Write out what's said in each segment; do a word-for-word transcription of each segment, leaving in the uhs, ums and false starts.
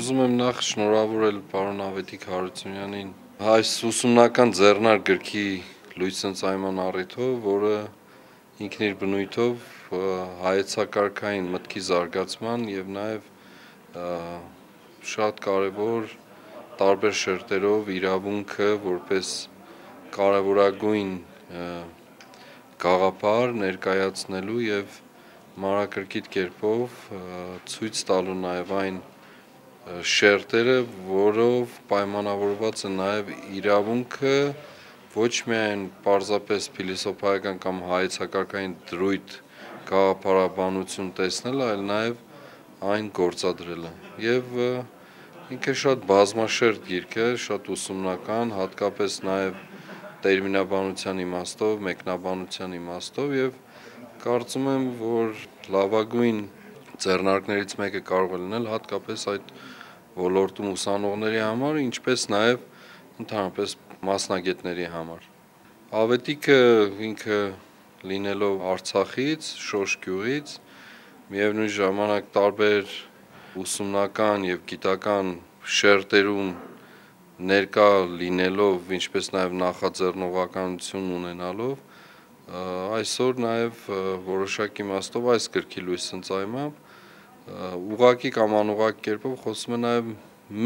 ուզում եմ նախ շնորհավորել պարոն Ավետիք Հարությունյանին այս ուսումնական ձեռնարկ գրքի լույս ընծայման առիթով, որը ինքն իր բնույթով հայեցակարգային մտքի զարգացման եւ նաեւ շատ կարեւոր տարբեր շերտերով իրավունքը որպես կարևորագույն գաղափար ներկայացնելու եւ մանրակրկիտ կերպով ցույց տալու նաեւ այն շերտերը, որով պայմանավորված է նաեւ իրավունքը ոչ միայն պարզապես փիլիսոփայական կամ հայեցակարգային դրույթ գաղափարաբանություն տեսնել, այլ նաեւ այն գործադրելը եւ ինքը շատ բազմաշերտ գիրք է, շատ ուսումնական, հատկապես նաեւ տերմինաբանության իմաստով, մեկնաբանության իմաստով եւ կարծում եմ, որ լավագույն ձեռնարկներից մեկը կարող է լինել հատկապես այդ ոլորտում ուսանողների համար, ինչպես նաեւ ընդհանրապես մասնագետների համար։ Ավետիքը ինքը լինելով Արցախից, Շոշ գյուղից, միևնույն ժամանակ տարբեր ուսումնական եւ գիտական շերտերում ներկա լինելով, ինչպես նաեւ նախաձեռնողականություն ունենալով, այսօր նաեւ որոշակի իմաստով այս գրքի լույս ընծայմամբ ուղղակի կամ անուղղակի կերպով խոսում է նաեւ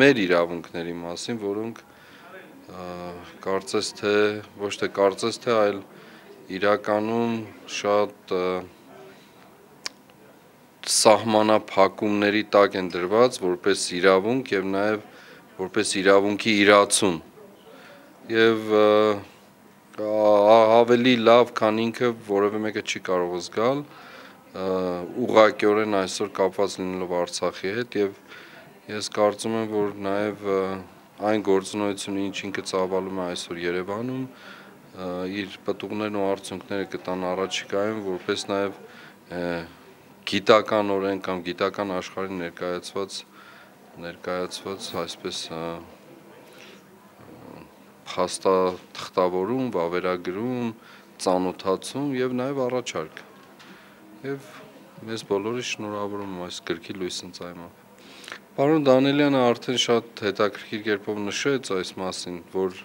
մեր իրավունքների մասին, որոնք կարծես թե ոչ թե կարծես թե, այլ իրականում շատ սահմանափակումների տակ են դրված որպես իրավունք եւ նաեւ որպես իրավունքի իրացում եւ ավելի լավ, քան ինքը որևէ մեկը չի կարող զգալ ուղղակիորեն այսօր կապված լինելով Արցախի հետ եւ ես կարծում եմ, որ նաեւ այն գործունեությունը, ինչ ինքը ծավալում է այսօր Երևանում, իր պտուղներն ու արդյունքները կտան առաջիկայում, որպես նաեւ գիտականորեն կամ գիտական աշխարհին ներկայացված ներկայացված այսպես փաստաթղթավորում, վավերագրում, ծանոթացում եւ նաեւ առաջարկ եւ մեզ բոլորիս շնորհավորում եմ այս գրքի լույս ընծայմամբ։ Պարոն Դանիելյանը արդեն շատ հետաքրքիր կերպով նշեց այս մասին, որ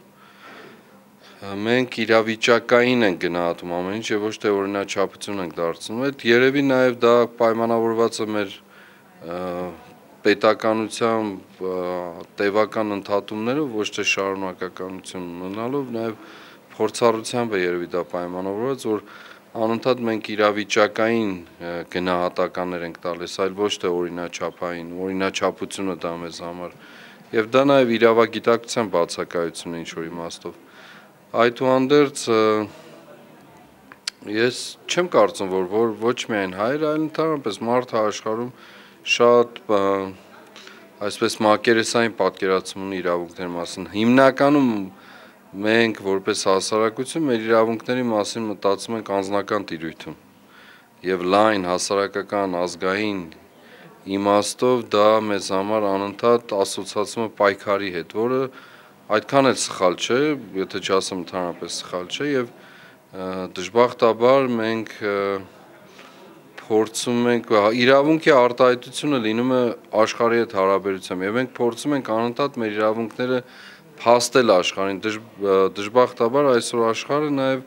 մենք իրավիճակային ենք գնահատում ամեն ինչ եւ ոչ թե օրինաչափություն ենք դարձնում։ Այդ երևի նաեւ դա պայմանավորված է մեր պետականությամբ տևական ընդհատումներով, ոչ թե շարունակականություն ունենալով, նաեւ փորձառությամբ է երևի դա պայմանավորված, որ անընդհատ մենք իրավիճակային գնահատականներ ենք տալիս, այլ ոչ թե օրինաչափային, օրինաչափությունը դա մեզ համար եւ դա նաեւ իրավագիտակցության բացակայություն է ինչ-որ իմաստով։ Այդուհանդերձ ես չեմ կարծում, որ, որ ոչ միայն հայեր, այլ ընդհանրապես մարդը աշխարհում շատ այսպես մակերեսային պատկերացում ունի իրավունքների մասին։ Հիմնականում մենք որպես հասարակություն մեր իրավունքների մասին մտածում ենք անձնական տիրույթում եւ լայն հասարակական ազգային իմաստով դա մեզ համար անընդհատ ասոցացվում է պայքարի հետ, որը այդքան էլ սխալ չէ, եթե չասեմ ընդհանրապես սխալ չէ եւ դժբախտաբար մենք փորձում ենք իրավունքի արտահայտությունը լինում է աշխարհի հետ հարաբերությամբ եւ մենք փորձում ենք անընդհատ մեր իրավունքները փաստել աշխարհին, դժբախտաբար այսօր աշխարհը նաեւ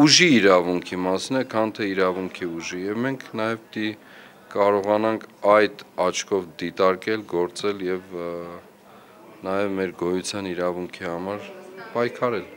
ուժի իրավունքի մասին է, քան թե իրավունքի ուժի եւ մենք նաեւ պիտի կարողանանք այդ աչքով դիտարկել, գործել եւ նաեւ մեր գոյության իրավունքի համար պայքարել։